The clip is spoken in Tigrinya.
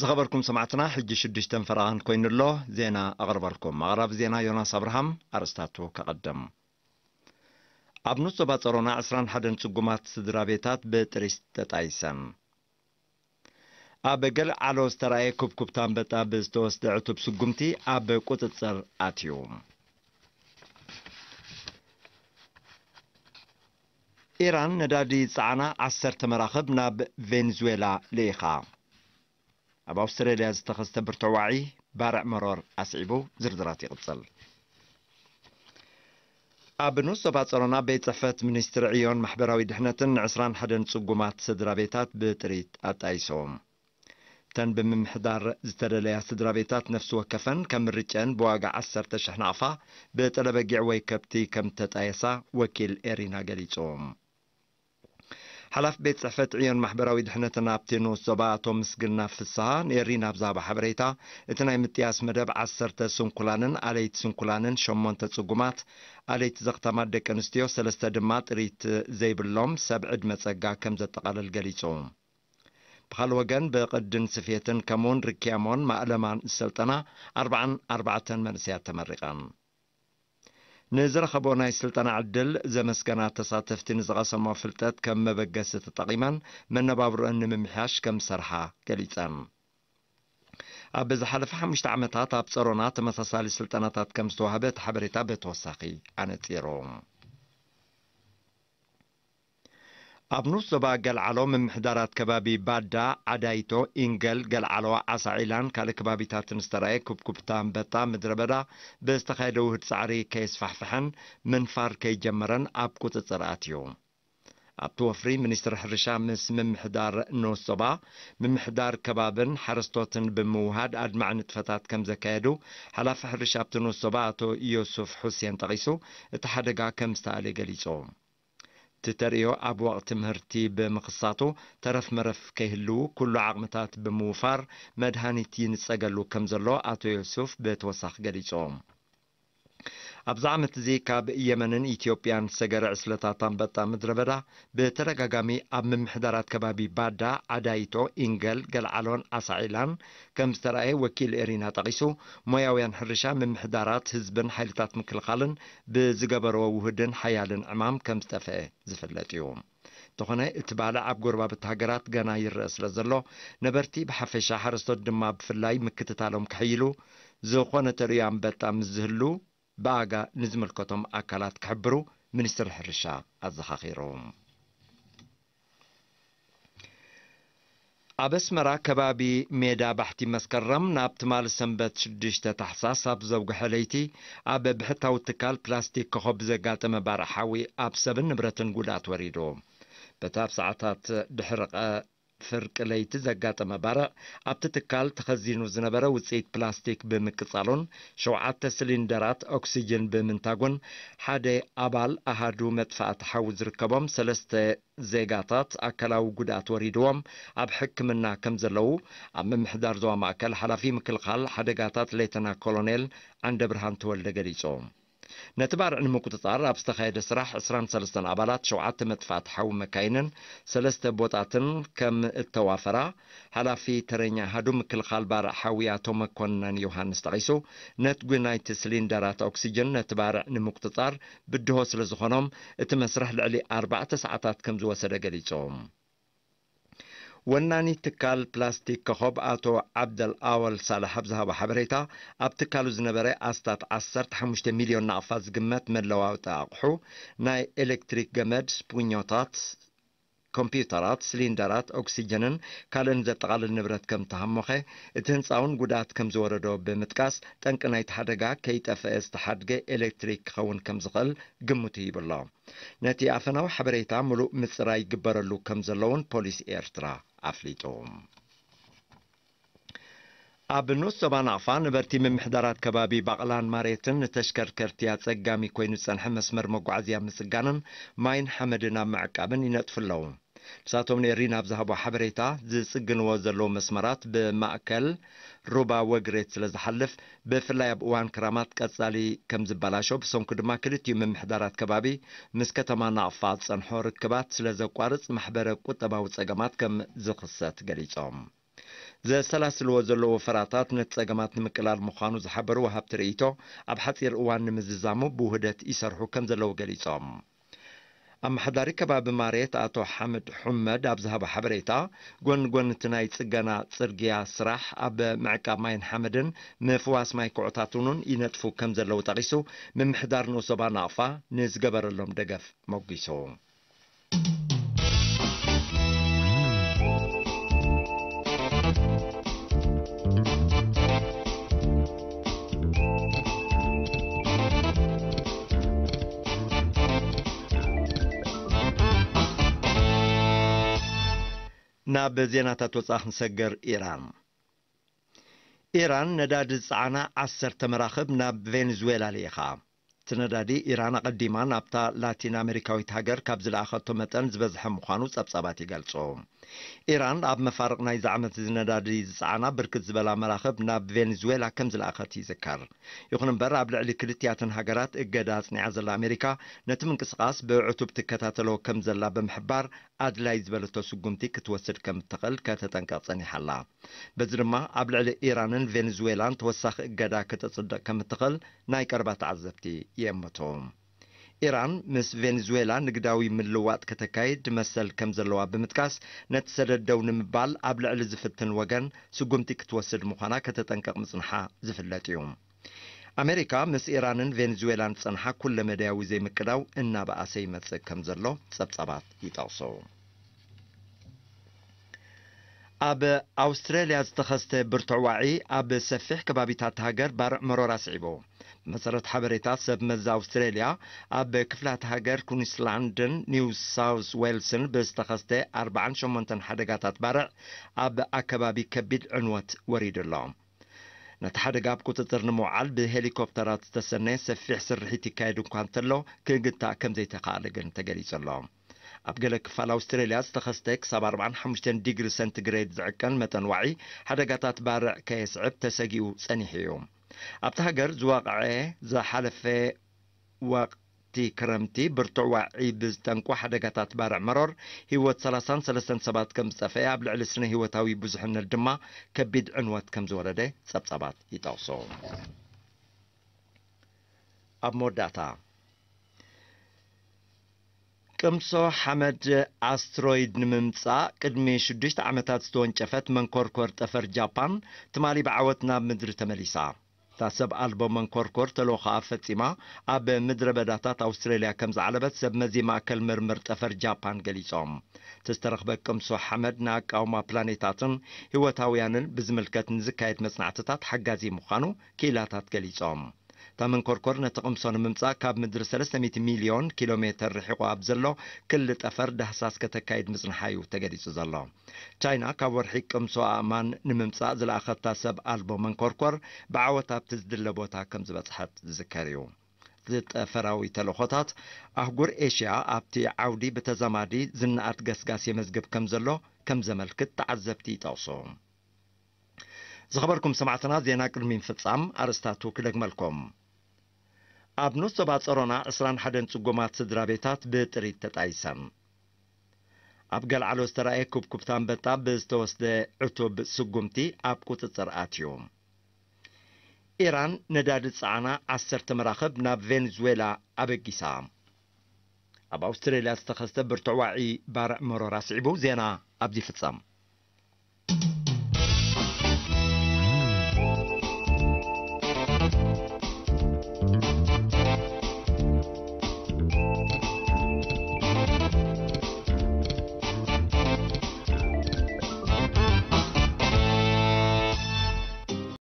ዝኸበርኩም ሰማዕትና፣ ሕጂ ሽዱሽተ ፈረቓን ኮይኑ'ሎ። ዜና ኣቕርበልኩም። ኣቕራቢ ዜና ዮናስ ኣብርሃም። ኣርእስታቱ ከቐድም። ኣብ ንኡስ ዞባ ጸሮና ዕስራን ሓደን ጽጉማት ስድራ ቤታት ብጥሪት ተጣይሰን። ኣብ ገለዓሎ ዝተራእየ ኩብኩብታ ኣንበጣ ብዝተወስደ ዕቱብ ስጉምቲ ኣብ ቁጽጽር ኣትዩ። ኢራን ነዳዲ ዝጸዓና ዓሰርተ መራኽብ ናብ ቬንዙዌላ ልኢኻ። ኣብ ኣውስትራልያ ዝተኸስተ ብርቱዕ ዋዒ ባርዕ መሮር ኣስዒቡ። ዝርዝራት ይቕጽል። ኣብ ንኡስ ዞባ ጸሮና ቤት ጽሕፈት ሚኒስትሪ ዕዮን ማሕበራዊ ድሕነትን ንዕስራን ሓደን ጽጉማት ስድራ ቤታት ብጥሪት ኣጣይሶም። እተን ብምምሕዳር ዝተደለያ ስድራ ቤታት ነፍሲ ወከፈን ከም ምርጨን ብዋጋ ዓሰርተ ሽሕ ናቕፋ ብጥረ በጊዕ ወይ ከብቲ ከም ተጣየሳ ወኪል ኤሪና ገሊጹ። ሓላፊ ቤት ጽሕፈት ዕዮን ማሕበራዊ ድሕነትን ኣብቲ ንኡስ ዞባ ኣቶ ምስግና ፍስሃ ንኤሪና ኣብ ዝሃቦ ሓበሬታ፣ እቲ ናይ ምጥያስ መደብ ዓሰርተ ስንኩላንን ኣለይቲ ስንኩላንን፣ ሸሞንተ ጽጉማት ኣለይቲ ዘኽታማት ደቂ ኣንስትዮ፣ ሰለስተ ድማ ጥሪት ዘይብሎም ሰብ ዕድመ ጸጋ ከም ዘጠቓልል ገሊጹ። ብኻልእ ወገን ብቕድን ስፌትን ከምኡውን ርክያሞን ማእለማን ዝሰልጠና ኣርባዓን ኣርባዕተን መንእሰያት ተመሪቐን። ንዝረኸቦ ናይ ስልጠና ዕድል ዘመስገና ተሳተፍቲ ንዝቐሰሞ ፍልጠት ከም መበገሲ ተጠቒመን መነባብሮአን ንምምሕያሽ ከም ዝሰርሓ ገሊጸን። ኣብ ዝሓለፈ ሓሙሽተ ዓመታት ኣብ ጸሮና ተመሳሳሊ ስልጠናታት ከም ዝተዋህበ እቲ ሓበሬታ ብተወሳኺ ኣነጺሩ። ኣብ ንኡስ ዞባ ገልዓሎ ምምሕዳራት ከባቢ ባዳ፣ ዓዳይቶ፣ ኢንገል፣ ገልዓሎ፣ ዓሳዒላን ካልእ ከባቢታትን ዝተራእየ ኩብኩብታ ኣንበጣ ምድረ በዳ ብዝተኻየደ ውህድ ጻዕሪ ከየስፋሕፍሐን ምንፋር ከይጀመረን ኣብ ቁጽጽር ኣትዩ። ኣብቲ ወፍሪ ሚኒስትሪ ሕርሻ ምስ ምምሕዳር ንኡስ ዞባ፣ ምምሕዳር ከባብን ሓረስቶትን ብምውሃድ ኣድማዒ ንጥፈታት ከም ዘካየዱ ሓላፊ ሕርሻ ኣብቲ ንኡስ ዞባ ኣቶ ዮሱፍ ሑሴን ጠቒሱ፣ እቲ ሓደጋ ከም ዝተኣለ ገሊጹ። እቲ ተርእዮ ኣብ ወቕቲ ምህርቲ ብምኽሳቱ፣ ተረፍ መረፍ ከይህልዉ ኩሉ ዓቕምታት ብምውፋር መድሃኒት ይንጸገሉ ከም ዘሎ ኣቶ ዮሱፍ ብተወሳኺ ገሊጹ። ኣብዚ ዓመት እዚ ካብ የመንን ኢትዮጵያን ዝሰገረ ዕስለታት ኣንበጣ ምድረ በዳ ብተደጋጋሚ ኣብ ምምሕዳራት ከባቢ ባዳ፣ ዓዳይቶ፣ ኢንገል፣ ገልዓሎን ዓሳዒላን ከም ዝተራእየ ወኪል ኤሪና ጠቒሱ፣ ሞያውያን ሕርሻ፣ ምምሕዳራት፣ ህዝብን ሓይልታት ምክልኻልን ብዝገበርዎ ውሁድን ሓያልን ዕማም ከም ዝጠፍአ ዝፍለጥ እዩ። እንተኾነ፣ እቲ ባልዕ ኣብ ጎረባብቲ ሃገራት ገና ይረአ ስለ ዘሎ፣ ነበርቲ ብሓፈሻ፣ ሓረስቶት ድማ ብፍላይ ምክትታሎም ከሕይሉ፣ ዝኾነ ተርእዮ ኣንበጣ ምስ ዝህሉ፣ ብኣጋ ንዝምልከቶም ኣካላት ክሕብሩ ሚኒስትሪ ሕርሻ ኣዘኻኺሩ። ኣብ ኣስመራ ከባቢ ሜዳ ባሕቲ መስከረም ናብ ትማሊ ሰንበት ሽዱሽተ ታሕሳስ ኣብ ዘውግሐ ለይቲ ኣብ ብሕታዊ ትካል ፕላስቲክ ኮኾብ ዘጋጠመ ባርዕ ሓዊ ኣብ ሰብን ንብረትን ጉድኣት ወሪዱ። በቲ ኣብ ሰዓታት ድሕሪ ቀ-፣ ፍርቂ ለይቲ ዘጋጠመ ባርዕ ኣብቲ ትካል ተኸዚኑ ዝነበረ ውፅኢት ፕላስቲክ ብምቅጻሉን ሸውዓተ ሲሊንደራት ኦክሲጅን ብምንታጉን ሓደ ኣባል ኣሃዱ መጥፋእቲ ሓዊ ዝርከቦም ሰለስተ ዜጋታት ኣካላዊ ጉድኣት ወሪድዎም ኣብ ሕክምና ከም ዘለዉ ኣብ ምምሕዳር ዞባ ማእከል ሓላፊ ምክልኻል ሓደጋታት ሌተና ኮሎኔል ዓንደብርሃን ተወልደ ገሊጹ። ነቲ ባርዕ ንምቁጽጻር ኣብ ዝተኻየደ ስራሕ ዕስራን ሰለስተን ኣባላት ሸውዓተ መጥፋእቲ ሓዊ መካይንን ሰለስተ ቦጣትን ከም እተዋፈራ ሓላፊ ተረኛ ኣሃዱ ምክልኻል ባርዕ ሓዊ ኣቶ መኮነን ዮሃንስ ጠቒሱ፣ ነትጒ ናይቲ ሲሊንደራት ኦክሲጅን ነቲ ባርዕ ንምቁጽጻር ብድሆ ስለ ዝኾኖም፣ እቲ መስርሕ ልዕሊ ኣርባዕተ ሰዓታት ከም ዝወሰደ ገሊጾም። ወናኒ ትካል ፕላስቲክ ኮኾብ ኣቶ ዓብደል ኣወል ሳልሕ ኣብ ዝሃቦ ሓበሬታ፣ ኣብ ትካሉ ዝነበረ ኣስታት ዓሰርተ ሓሙሽተ ሚልዮን ናቕፋ ዝግመት መለዋወጢ ኣቕሑ፣ ናይ ኤሌክትሪክ ገመድ፣ ስፑኞታት፣ ኮምፒውተራት፣ ሲሊንደራት ኦክሲጅንን ካልእን ዘጠቓልል ንብረት ከም ተሃሞኸ፣ እቲ ህንፃ እውን ጉድኣት ከም ዝወረዶ ብምጥቃስ፣ ጠንቂ ናይቲ ሓደጋ ከይጠፍአ ዝተሓድገ ኤሌክትሪክ ክኸውን ከም ዝኽእል ግምቱ ይብሎ። ነቲ ኣፈናዊ ሓበሬታ ምሉእ ምጽራይ ይግበረሉ ከም ዘለውን ፖሊስ ኤርትራ ኣፍሊጡ። ኣብ ንኡስ ዞባ ናቕፋ ነበርቲ ምምሕዳራት ከባቢ ባቕላን ማሬትን ንተሽከርከርቲ ኣጸጋሚ ኮይኑ ዝጸንሐ መስመር መጓዓዝያ ምጽጋንን ማይን ሓመድን ኣብ ምዕቃብን ይነጥፉ ኣለዉ። ንሳቶም ንኤሪና ኣብ ዝሃቦ ሓበሬታ፣ ዝጽግንዎ ዘለዉ መስመራት ብማእከል ሩባ ወግሬት ስለ ዝሓልፍ፣ ብፍላይ ኣብ እዋን ክራማት ቀጻሊ ከም ዝበላሾ፣ ብሰንኩ ድማ ክልቲኡ ምምሕዳራት ከባቢ ምስ ከተማ ናቕፋ ዝጸንሖ ርክባት ስለ ዘቋርጽ፣ ማሕበረ ቁጠባዊ ጸገማት ከም ዝኽሰት ገሊጾም። ዘሰላስልዎ ዘለዉ ወፈራታት ነቲ ጸገማት ንምቅላል ምዃኑ ዝሓበሩ ወሃብቲ ርእይቶ፣ ኣብ ሓጺር እዋን ንምዝዛሙ ብውህደት ይሰርሑ ከም ዘለዉ ገሊጾም። ኣመሓዳሪ ከባቢ ማሬት ኣቶ ሓምድ ሑመድ ኣብ ዝሃቦ ሓበሬታ፣ ጎኒ ጎኒ እቲ ናይ ጽገና ጽርግያ ስራሕ፣ ኣብ ምዕቃብ ማይን ሓመድን ምፍዋስ ማይ ኩዕታት እውን ይነጥፉ ከም ዘለዉ ጠቒሱ፣ ምምሕዳር ንኡስ ዞባ ናቕፋ ንዝገበረሎም ደገፍ ሞጒሱ። ናብ ዜናታት ወጻኢ ክንሰገር። ኢራን። ኢራን ነዳዲ ዝጸዓና ዓሰርተ መራኽብ ናብ ቬኔዙዌላ ልኢኻ። እቲ ነዳዲ ኢራን ኣቐዲማ ናብታ ላቲን ኣሜሪካዊት ሃገር ካብ ዝለኣኸቶ መጠን ዝበዝሐ ምዃኑ ጸብጻባት ይገልጹ። ኢራን ኣብ መፋርቕ ናይዚ ዓመት እዚ ነዳዲ ዝጸዓና ብርክት ዝበላ መራኽብ ናብ ቬኔዙዌላ ከም ዝለኣኸት ይዝከር። ይኹን እምበር፣ ኣብ ልዕሊ ክልቲኣተን ሃገራት እገዳ ኣጽኒዓ ዘላ ኣሜሪካ፣ ነቲ ምንቅስቓስ ብዕቱብ ትከታተሎ ከም ዘላ ብምሕባር፣ ኣድላይ ዝበለቶ ስጉምቲ ክትወስድ ከም እትኽእል ከተጠንቀቕ ጸኒሓ ኣላ። በዚ ድማ ኣብ ልዕሊ ኢራንን ቬኔዙዌላን ተወሳኺ እገዳ ከተጽድቕ ከም እትኽእል ናይ ቀረባ ተዓዘብቲ ይእምቱ። ኢራን ምስ ቬኔዙዌላ ንግዳዊ ምልውዋጥ ከተካይድ መሰል ከም ዘለዋ ብምጥቃስ፣ ነቲ ሰደድ ደው ንምባል ኣብ ልዕሊ ዝፍትን ወገን ስጉምቲ ክትወስድ ምዃና ከተጠንቅቕ ምጽንሓ ዝፍለጥ እዩ። ኣሜሪካ ምስ ኢራንን ቬኔዙዌላን ዝጸንሓ ኩለ መዳያዊ ዘይምቅዳው እናበኣሰ ይመጽእ ከም ዘሎ ጸብጻባት ይጠቕሱ። ኣብ ኣውስትራልያ ዝተኸስተ ብርቱዕ ዋዒ ኣብ ሰፊሕ ከባቢታት ሃገር ባርዕ መሮር ኣስዒቡ። ብመሰረት ሓበሬታ ሰብ መዚ ኣውስትራልያ፣ ኣብ ክፍላት ሃገር ኩንስላንድን ኒው ሳውስ ዌልስን ብዝተኸስተ ኣርባዓን ሸሞንተን ሓደጋታት ባርዕ ኣብ ኣከባቢ ከቢድ ዕንወት ወሪዱ ኣሎ። ነቲ ሓደጋ ኣብ ቁጽጽር ንምውዓል ብሄሊኮፕተራት ዝተሰነየ ሰፊሕ ስርሒት ይካየድ እኳ እንተሎ፣ ክግታእ ከም ዘይተኻእለ ግን ተገሊጹ ኣሎ። ኣብ ገለ ክፋል ኣውስትራልያ ዝተኸስተ ክሳብ ኣርባዓን ሓሙሽተን ዲግሪ ሰንቲግሬድ ዝዕቀን መጠን ዋዒ፣ ሓደጋታት ባርዕ ከየስዕብ ተሰጊኡ ጸኒሑ እዩ። ኣብቲ ሃገር ዝወቕዐ ዝሓለፈ ወቕቲ ክረምቲ ብርቱዕ ዋዒ ብዝጠንቁ ሓደጋታት ባርዕ መሮር፣ ህይወት ሰላሳን ሰለስተን ሰባት ከም ዝጠፍአ፣ ኣብ ልዕሊ ስነ ህይወታዊ ብዙሕነት ድማ ከቢድ ዕንወት ከም ዝወረደ ጸብጻባት ይጠቕሱ። ኣብ መወዳእታ፣ ቅምሶ ሓመድ ኣስትሮይድ ንምምጻእ ቅድሚ ሽዱሽተ ዓመታት ዝተወንጨፈት መንኮርኮር ጠፈር ጃፓን፣ ትማሊ ብዓወት ናብ ምድሪ ተመሊሳ። እታ ሰብ ኣልቦ መንኮርኮር ተልእኾኣ ፈጺማ ኣብ ምድረ በዳታት ኣውስትራልያ ከም ዝዓለበት ሰብ መዚ ማእከል ምርምር ጠፈር ጃፓን ገሊጾም። እቲ ዝተረኽበ ቅምሶ ሓመድ ንኣቃውማ ፕላኔታትን ህይወታውያንን ብዝምልከት ንዝካየድ መጽናዕትታት ሓጋዚ ምዃኑ ክኢላታት ገሊጾም። እታ መንኮርኮር ነቲ ቅምሶ ንምምጻእ ካብ ምድሪ ሰለስተ ሚእቲ ሚልዮን ኪሎ ሜተር ርሒቑ ኣብ ዘሎ ክሊ ጠፈር ዳህሳስ ከተካይድ ምጽንሓ እዩ ተገሊጹ ዘሎ። ቻይና ካብ ወርሒ ቅምሶ ኣእማን ንምምጻእ ዝለኣኸታ ሰብ ኣልቦ መንኮርኮር ብዓወት ኣብቲ ዝድለ ቦታ ከም ዝበጽሐት ዝዝከር እዩ። እዚ ጠፈራዊ ተልእኾታት ኣህጉር ኤሽያ ኣብቲ ዓውዲ ብተዛማዲ ዝነኣድ ገስጋስ የመዝግብ ከም ዘሎ ከም ዘመልክት ተዓዘብቲ ይጠቕሱ። ዝኸበርኩም ሰማዕትና፣ ዜና ቅድሚ ምፍጻም ኣርእስታቱ ክደግመልኩም። ኣብ ንኡስ ዞባ ጸሮና ዕስራን ሓደን ጽጉማት ስድራ ቤታት ብጥሪት ተጣይሰን። ኣብ ገልዓሎ ዝተራእየ ኩብኩብታ ኣንበጣ ብዝተወስደ ዕቱብ ስጉምቲ ኣብ ቁጽጽር ኣትዩ። ኢራን ነዳዲ ዝጸዓና ዓሰርተ መራኽብ ናብ ቬኔዙዌላ ኣበጊሳ። ኣብ ኣውስትሬልያ ዝተኸስተ ብርቱዕ ዋዒ ባርዕ መሮር ኣስዒቡ። ዜና ኣብዚ ይፍጸም።